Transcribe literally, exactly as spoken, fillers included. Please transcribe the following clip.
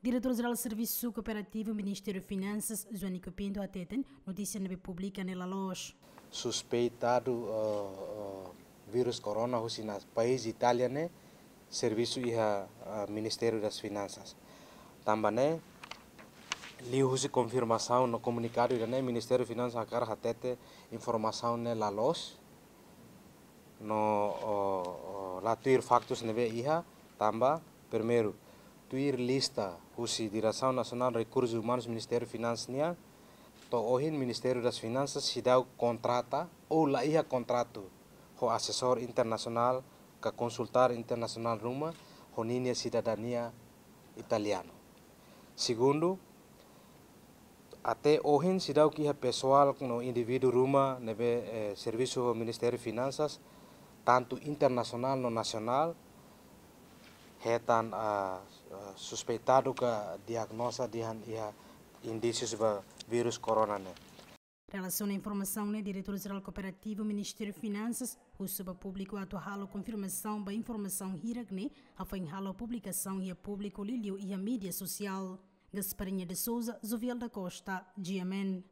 Diretór Jerál Servisu Kooperativu Ministériu Finansas, Joanico Pinto, hateten notísia ne'ebé publika ne'e la loos. Suspeitadu, eh, eh, vírus corona husi na país Itália ne'e servisu iha, eh, Ministério das Finansas. Tanba ne'e, liuhusi konfirmasaun no komunikadu ida-ne'e, Ministériu Finansas hakarak hatete informasaun ne'e la loos. No, o, o, la tuir faktus ne'ebé iha, tanba, primeiru, tuir lista husi Diresaun Nasionál Rekursus Umanus Ministériu Finansas nian, to'o ohin Ministériu das Finansas seidauk kontrata ou la iha kontratu ho asesór internasionál ka konsultór internasionál ruma ho ninia sidadania italianu. Segundu, até ohin seidauk iha pesoál no indivíduu ruma ne'ebé, eh, servisu ho Ministériu Finansas, tantu internasionál no nasionál, hetan, ah, ah, suspeitadu ka diagnoza dehan iha indísius ba vírus corona ne'e. Relasiona informasaun ne'e, Diretór Jerál Kooperativu Ministériu Finansas husu ba públiku atu halo konfirmasaun ba informasaun hirak ne'e, hafoin halo publikasaun iha públiku liuliu iha mídia sosiál. Gasparinha de Souza, Jovial da Costa, G M N.